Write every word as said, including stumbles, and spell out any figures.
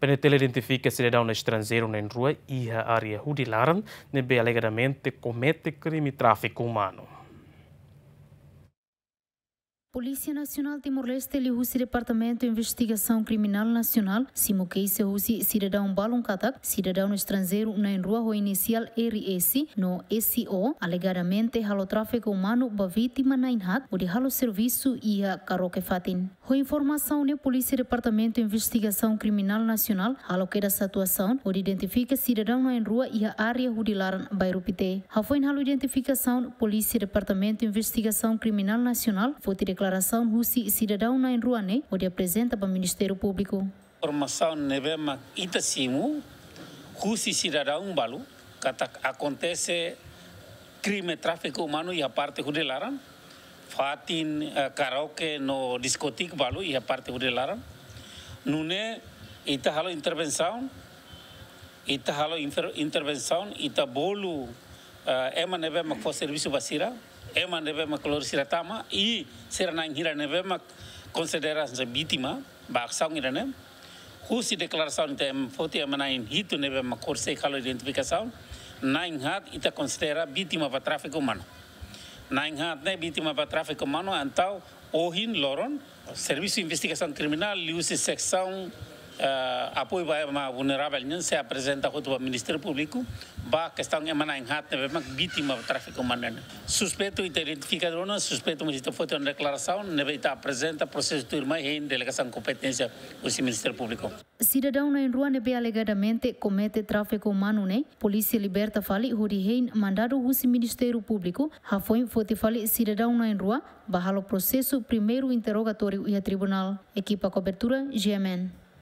PNTL identifika sidadaun estranjeiru na'in-rua iha área Hudi Laran ne'ebé alegadamente komete krime tráfiku umanu. Polísia Nasionál Timor-Leste liuhusi Departamentu Investigasaun Kriminál Nasionál simu keixa husi sidadaun balun katak sidadaun estranjeiru na'in-rua ho inisiál R S no S O alegadamente halo tráfiku umanu ba vítima na'in-haat hodi halo servisu iha karaoke fatin. Ho informasaun ne'e, Polísia Departamentu Investigasaun Kriminál Nasionál halo kedas atuasaun hodi identifika sidadaun na'in-rua iha área Hudi Laran, bairru Pité. Hafoin halo identifikasaun, Polísia Departamentu Investigasaun Kriminál Nasionál foti deklarasaun husi sidadaun na'in-rua ne'e hodi aprezenta ba Ministériu Públiku. Informasaun ne'ebé mak ita simu husi sidadaun balu katak akontese krime tráfiku umanu iha parte Hudi Laran, fatin, eh, karaoke no diskotik balu iha parte Hudi Laran. Nune'e ita halo intervensaun, ita halo infer-, intervensaun, ita bolu, eh, ema ne'ebé mak fó servisu ba sira, ema ne'ebé mak lori sira tama, i sira na'in hira ne'ebé mak konsidera hanesan vítima ba asaun ida-ne'e. Husi deklarasaun ita, ema foti ema na'in hitu ne'ebé mak konsege halo identifikasaun, na'in-haat ita konsidera vítima ba tráfiku umanu. Na'in-haat ne'e vítima ba tráfiku umanu, entaun ohin loron, Servisu Investigasaun Kriminál liuhusi seksaun, eh, apoiu ba ema vulneravel nian sei aprezenta hotu ba Ministériu Públiku ba kestaun ema na'in-haat ne'ebé mak vítima tráfiku umanu ne'e. Suspeitu ita identifika ona, suspeitu mós ita foti ona deklarasaun, ne'ebé ita aprezenta prosesu tuirmai hein delegasaun kompeténsia husi Ministériu Públiku. Sidadaun na'in-rua ne'ebé alegadamente komete tráfiku umanu ne'e, polísia liberta fali hodi hein mandadu husi Ministériu Públiku, hafoin foti fali sidadaun na'in-rua ba halo prosesu primeiru interrogatóriu iha tribunál. Ekipa kobertura, G M N.